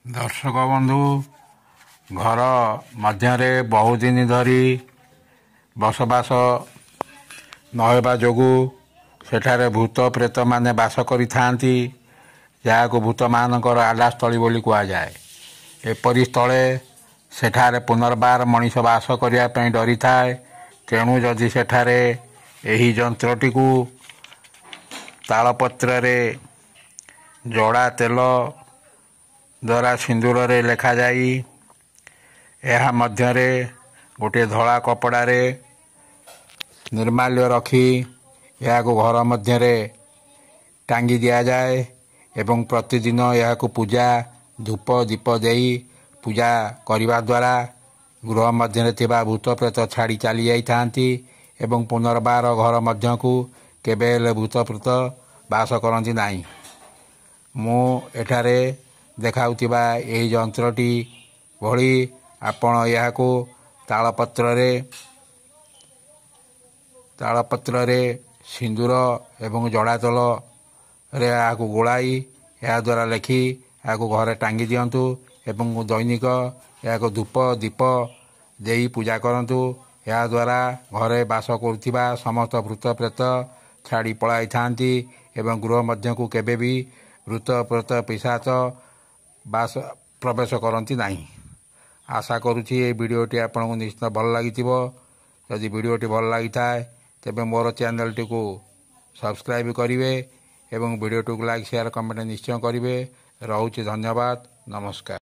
ଦର୍ଶକ ବନ୍ଧୁ, ଘର ମଧ୍ୟରେ ବହୁଦିନ ଧରି ବସବାସ ନହେବା ଯୋଗୁଁ ସେଠାରେ ଭୂତ ପ୍ରେତମାନେ ବାସ କରିଥାନ୍ତି, ଯାହାକୁ ଭୂତମାନଙ୍କର ଆଡ୍ଡାସ୍ଥଳୀ ବୋଲି କୁହାଯାଏ। ଏପରି ସ୍ଥଳେ ସେଠାରେ ପୁନର୍ବାର ମଣିଷ ବାସ କରିବା ପାଇଁ ଡରିଥାଏ। ତେଣୁ ଯଦି ସେଠାରେ ଏହି ଯନ୍ତ୍ରଟିକୁ ତାଳପତ୍ରରେ ଜଡ଼ା ତେଲ ଦ୍ୱାରା ସିନ୍ଦୁରରେ ଲେଖାଯାଇ ଏହା ମଧ୍ୟରେ ଗୋଟିଏ ଧଳା କପଡ଼ାରେ ନିର୍ମାଲ୍ୟ ରଖି ଏହାକୁ ଘର ମଧ୍ୟରେ ଟାଙ୍ଗି ଦିଆଯାଏ ଏବଂ ପ୍ରତିଦିନ ଏହାକୁ ପୂଜା ଧୂପ ଦୀପ ଦେଇ ପୂଜା କରିବା ଦ୍ୱାରା ଗୃହ ମଧ୍ୟରେ ଥିବା ଭୂତ ପ୍ରେତ ଛାଡ଼ି ଚାଲି ଯାଇଥାନ୍ତି ଏବଂ ପୁନର୍ବାର ଘର ମଧ୍ୟକୁ କେବେ ହେଲେ ଭୂତ ପ୍ରେତ ବାସ କରନ୍ତି ନାହିଁ। ମୁଁ ଏଠାରେ ଦେଖାଉଥିବା ଏହି ଯନ୍ତ୍ରଟି ଭଳି ଆପଣ ଏହାକୁ ତାଳପତ୍ରରେ ସିନ୍ଦୁର ଏବଂ ଜଡ଼ା ତେଲରେ ଏହାକୁ ଗୋଳାଇ ଏହାଦ୍ୱାରା ଲେଖି ଏହାକୁ ଘରେ ଟାଙ୍ଗି ଦିଅନ୍ତୁ ଏବଂ ଦୈନିକ ଏହାକୁ ଧୂପ ଦୀପ ଦେଇ ପୂଜା କରନ୍ତୁ। ଏହାଦ୍ୱାରା ଘରେ ବାସ କରୁଥିବା ସମସ୍ତ ଭୂତ ପ୍ରେତ ଛାଡ଼ି ପଳାଇଥାନ୍ତି ଏବଂ ଗୃହ ମଧ୍ୟକୁ କେବେ ବି ଭୂତ ପ୍ରେତ ପିଶାଚ ବାସ ପ୍ରବେଶ କରନ୍ତି ନାହିଁ। ଆଶା କରୁଛି ଏହି ଭିଡ଼ିଓଟି ଆପଣଙ୍କୁ ନିଶ୍ଚିତ ଭଲ ଲାଗିଥିବ। ଯଦି ଭିଡ଼ିଓଟି ଭଲ ଲାଗିଥାଏ, ତେବେ ମୋର ଚ୍ୟାନେଲଟିକୁ ସବସ୍କ୍ରାଇବ୍ କରିବେ ଏବଂ ଭିଡ଼ିଓଟିକୁ ଲାଇକ୍, ସେୟାର, କମେଣ୍ଟ ନିଶ୍ଚୟ କରିବେ। ରହୁଛି, ଧନ୍ୟବାଦ, ନମସ୍କାର।